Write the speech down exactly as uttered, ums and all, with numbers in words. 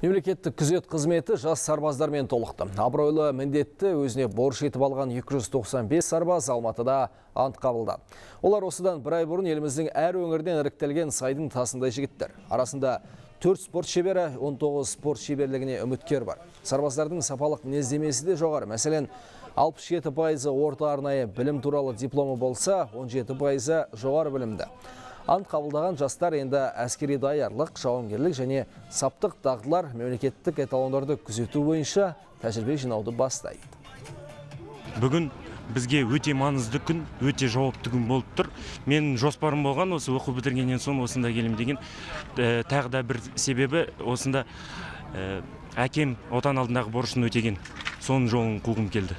Мемлекеттік күзет қызметі жас сарбаздармен толықты. Абыройлы міндетті өзіне борыш етіп алған екі жүз тоқсан бес сарбаз Алматыда ант қабылдады. Олар осыдан бір ай бұрын еліміздің әр өңірден іріктелген сайдың тасындай жігіттер. Арасында төрт спорт шебері, он тоғыз спорт шеберлігіне үміткер бар. Сарбаздардың сапалық мінездемесі де жоғары. Мәселен, алпыс жеті пайызы орта арнайы білім туралы дипломы болса, он жеті пайызы жоғары білімді. Ант қабылдаған жастар енді әскери даярлық, жауынгерлік және саптық дағдылар мемлекеттік эталондарды күзету бойынша тәжірибе жинауды бастайды. Бүгін бізге өте маңызды күн, өте жауапты күн болып тұр. Мен жоспарым болған осы оқу бітіргеннен соң осында келем деген. Тағы да бір себебі осында әкем отан алдындағы борышын өтеген. Соның жолын қуғым келді.